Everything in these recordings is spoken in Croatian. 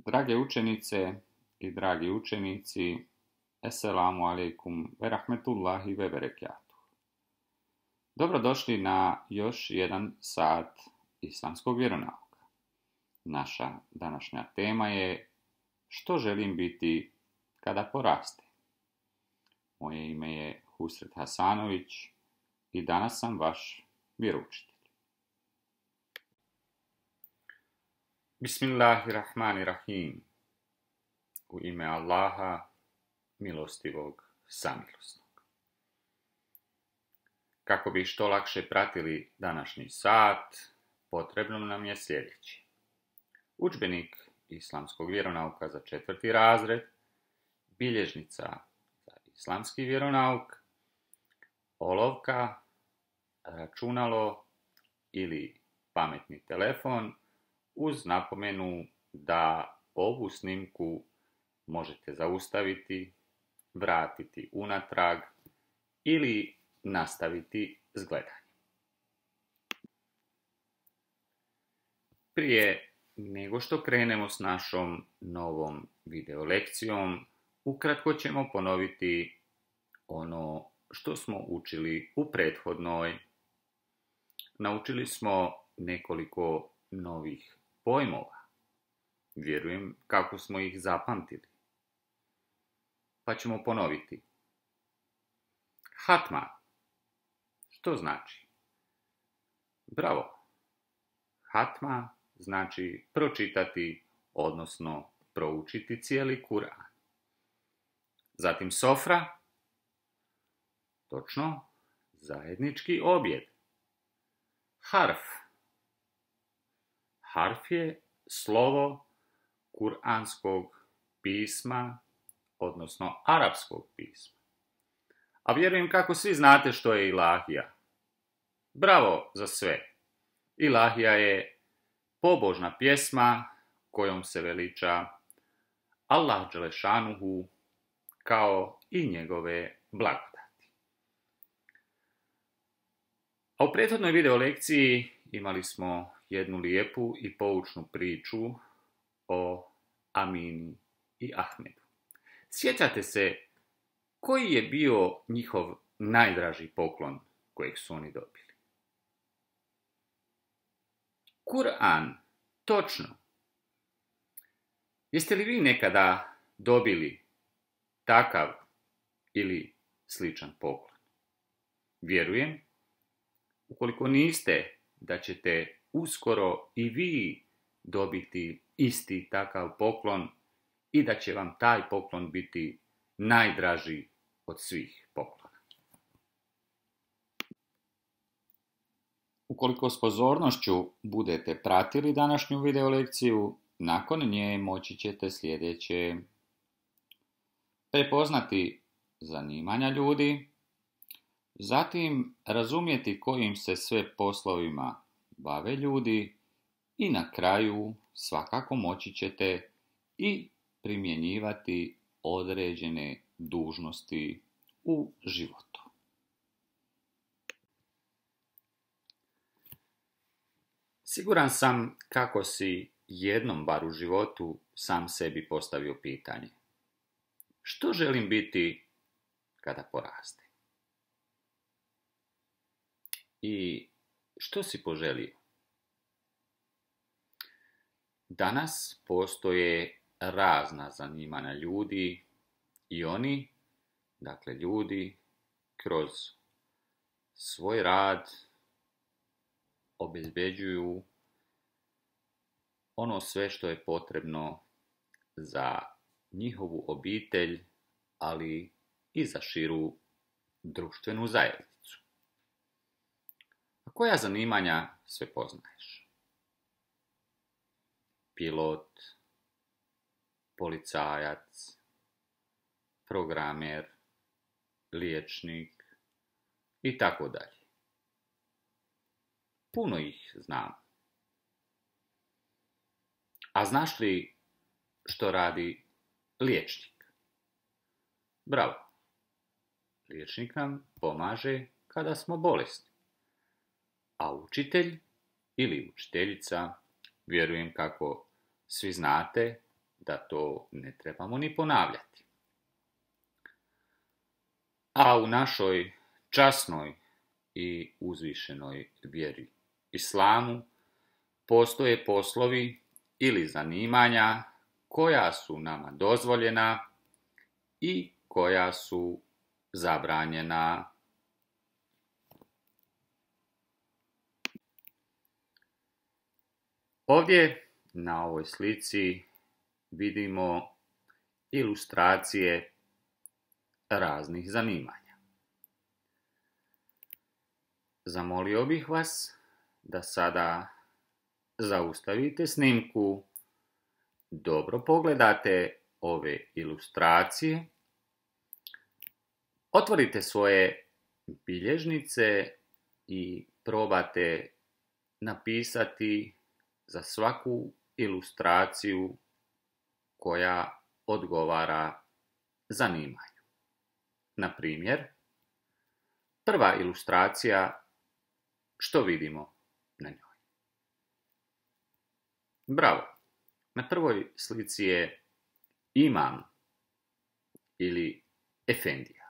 Drage učenice i dragi učenici, Esselamu alaikum ve rahmetullahi ve berekatuh. Dobrodošli na još jedan sat islamskog vjeronauka. Naša današnja tema je što želim biti kada porastem. Moje ime je Husret Hasanović i danas sam vaš vjeroučitelj. Bismillahirrahmanirrahim. U ime Allaha, milostivog, samilosnog. Kako bi što lakše pratili današnji sat, potrebno nam je sljedeći. Udžbenik islamskog vjeronauka za 4. razred, bilježnica za islamski vjeronauk, olovka, računalo ili pametni telefon, uz napomenu da ovu snimku možete zaustaviti, vratiti unatrag ili nastaviti s gledanjem. Prije nego što krenemo s našom novom video lekcijom, ukratko ćemo ponoviti ono što smo učili u prethodnoj. Naučili smo nekoliko novih pojmova. Vjerujem kako smo ih zapamtili. Pa ćemo ponoviti. Hatma. Što znači? Bravo. Hatma znači pročitati, odnosno proučiti cijeli Kur'an. Zatim sofra. Točno, zajednički objed. Harf. Harf je slovo kuranskog pisma, odnosno arapskog pisma. A vjerujem kako svi znate što je ilahija. Bravo za sve. Ilahija je pobožna pjesma kojom se veliča Allah dželešanuhu kao i njegove blagodati. A u prethodnoj video lekciji imali smo jednu lijepu i poučnu priču o Amini i Ahmedu. Sjećate se koji je bio njihov najdraži poklon kojeg su oni dobili? Kur'an, točno. Jeste li vi nekada dobili takav ili sličan poklon? Vjerujem, ukoliko niste, da ćete uskoro i vi dobiti isti takav poklon i da će vam taj poklon biti najdraži od svih poklona. Ukoliko s pozornošću budete pratili današnju video lekciju, nakon nje moći ćete sljedeće: prepoznati zanimanja ljudi, zatim razumjeti kojim se sve poslovima bave ljudi i na kraju svakako moći ćete i primjenjivati određene dužnosti u životu. Siguran sam kako si jednom bar u životu sam sebi postavio pitanje: što želim biti kada porastem? I što si poželio? Danas postoje razna zanimanja ljudi i oni, dakle ljudi, kroz svoj rad obezbeđuju ono sve što je potrebno za njihovu obitelj, ali i za širu društvenu zajednicu. A koja zanimanja sve poznaješ? Pilot, policajac, programer, liječnik i tako dalje. Puno ih znam. A znaš li što radi liječnik? Bravo. Liječnik nam pomaže kada smo bolesni. A učitelj ili učiteljica, vjerujem kako svi znate da to ne trebamo ni ponavljati. A u našoj časnoj i uzvišenoj vjeri islamu postoje poslovi ili zanimanja koja su nama dozvoljena i koja su zabranjena. Ovdje na ovoj slici vidimo ilustracije raznih zanimanja. Zamolio bih vas da sada zaustavite snimku, dobro pogledate ove ilustracije, otvorite svoje bilježnice i probate napisati za svaku ilustraciju koja odgovara zanimanju. Na primjer, prva ilustracija, što vidimo na njoj? Bravo! Na prvoj slici je imam ili efendija.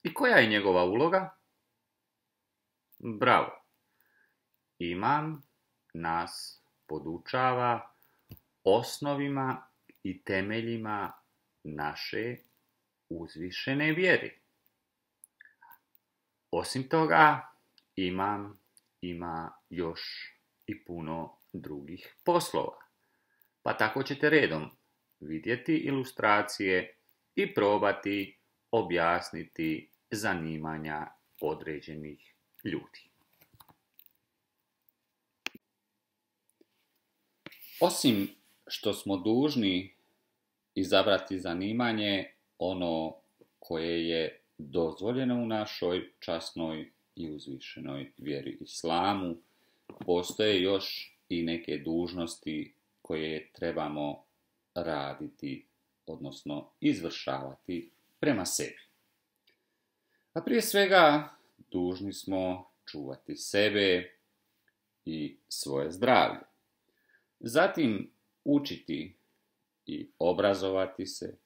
I koja je njegova uloga? Bravo! Imam nas podučava osnovima i temeljima naše uzvišene vjere. Osim toga, imam ima još i puno drugih poslova. Pa tako ćete redom vidjeti ilustracije i probati objasniti zanimanja određenih ljudi. Osim što smo dužni izabrati zanimanje ono koje je dozvoljeno u našoj časnoj i uzvišenoj vjeri islamu, postoje još i neke dužnosti koje trebamo raditi, odnosno izvršavati prema sebi. A prije svega dužni smo čuvati sebe i svoje zdravlje. Zatim učiti i obrazovati se,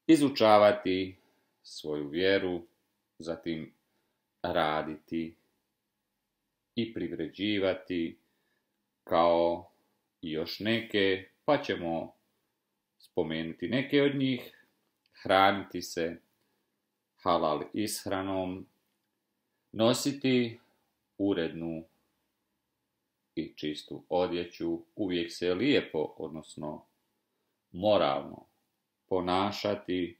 izučavati svoju vjeru, zatim raditi i privređivati kao i još neke, pa ćemo spomenuti neke od njih, hraniti se halal ishranom, nositi urednu i čistu odjeću, uvijek se lijepo, odnosno moralno ponašati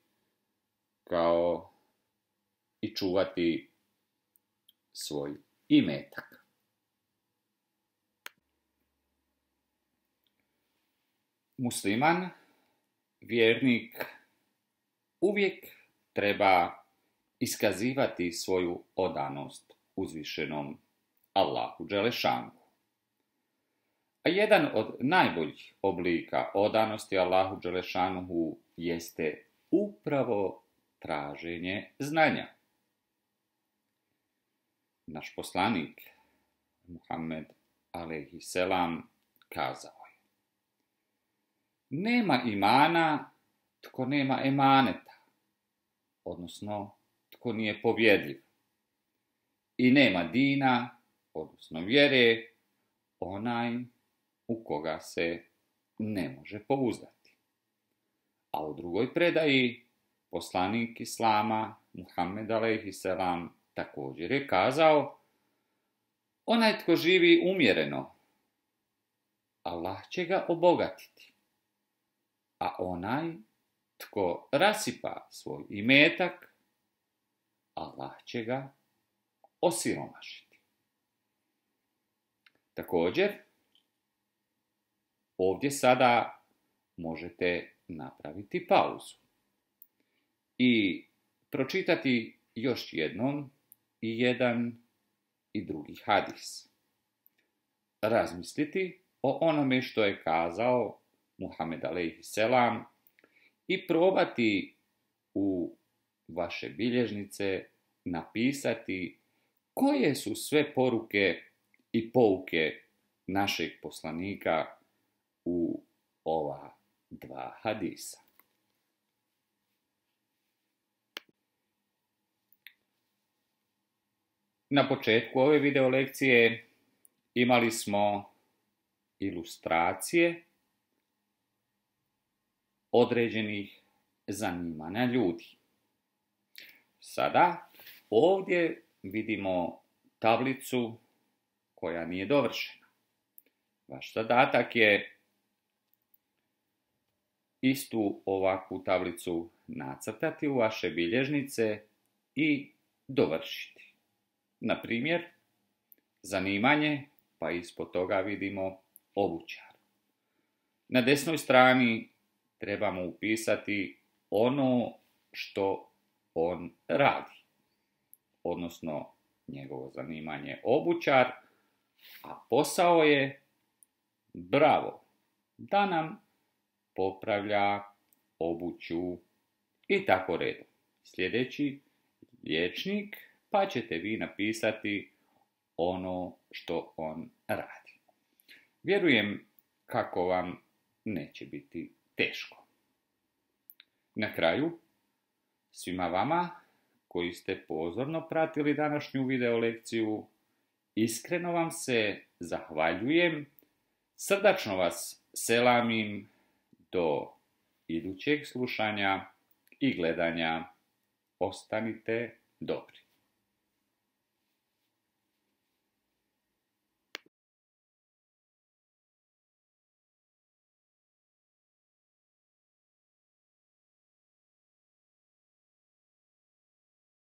kao i čuvati svoj imetak. Musliman, vjernik, uvijek treba iskazivati svoju odanost uzvišenom Allahu Đelešanuhu. A jedan od najboljih oblika odanosti Allahu Đelešanuhu jeste upravo traženje znanja. Naš poslanik Muhammed a.s. kazao je: nema imana tko nema emaneta, odnosno tko nije povjerljiv. I nema dina, odnosno vjere, onaj u koga se ne može pouzdati. A u drugoj predaji poslanik Islama Muhammed a.s. također je kazao: onaj tko živi umjereno, Allah će ga obogatiti, a onaj tko rasipa svoj imetak, Allah će ga osiromašiti. Također, ovdje sada možete napraviti pauzu i pročitati još jednom i jedan i drugi hadis. Razmisliti o onome što je kazao Muhammed a.s. i probati u vaše bilježnice napisati koje su sve poruke i pouke našeg poslanika u ova dva hadisa. Na početku ove video lekcije imali smo ilustracije određenih zanimanja ljudi. Sada ovdje vidimo tablicu koja nije dovršena. Vaš zadatak je istu ovakvu tablicu nacrtati u vaše bilježnice i dovršiti. Na primjer, zanimanje, pa ispod toga vidimo obućar. Na desnoj strani trebamo upisati ono što on radi, odnosno njegovo zanimanje obućar, a posao je, bravo, da nam popravlja obuću i tako redom. Sljedeći liječnik, pa ćete vi napisati ono što on radi. Vjerujem kako vam neće biti teško. Na kraju, svima vama koji ste pozorno pratili današnju video lekciju, iskreno vam se zahvaljujem, srdačno vas selamim do idućeg slušanja i gledanja. Ostanite dobri.